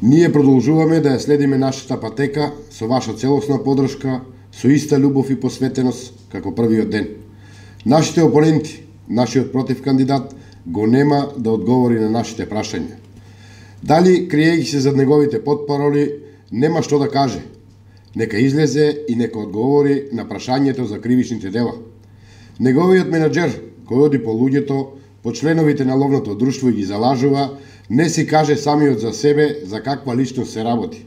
Ние продолжуваме да ја следиме нашата патека со ваша целосна подршка, со иста љубов и посветеност како првиот ден. Нашите опоненти, нашиот против кандидат, го нема да одговори на нашите прашања. Дали, криејќи се зад неговите потпароли, нема што да каже? Нека излезе и нека одговори на прашањето за кривичните дела. Неговиот менаџер, кој оди по луѓето, по членовите на ловното друштво и ги залажува, не си каже самиот за себе за каква личност се работи.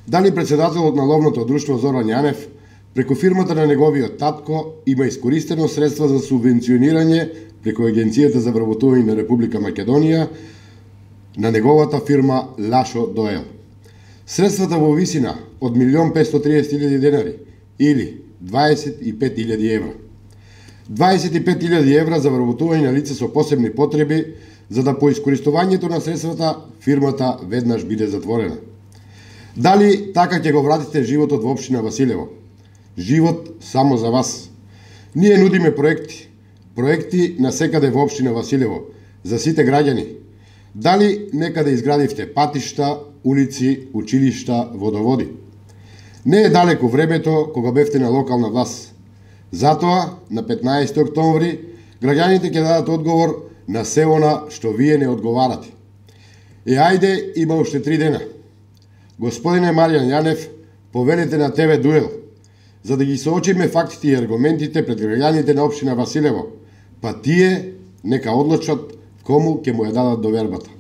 Дали председателот на ловното друштво Зоран Јанев, преку фирмата на неговиот татко, има искористено средства за субвенционирање преку Агенцијата за вработување на Република Македонија на неговата фирма Лашо Доел. Средствата во висина од 1.530.000 денари или 25.000 евра. 25.000 евра за вработување на лице со посебни потреби, за да по искористувањето на средствата фирмата веднаш биде затворена. Дали така ќе го вратите животот во општина Василево? Живот само за вас. Ние нудиме проекти на секаде во општина Василево, за сите граѓани. Дали некаде изградивте патишта, улици, училишта, водоводи? Не е далеко времето кога бевте на локална власт. Затоа, на 15 октомври, граѓаните ќе дадат одговор на се она што вие не одговарате. Ајде, има уште 3 дена. Господине Маријан Јанев, повелете на ТВ Дуел, за да ги соочиме фактите и аргументите пред граѓаните на општина Василево, па тие нека одлучат кому ќе му ја дадат довербата.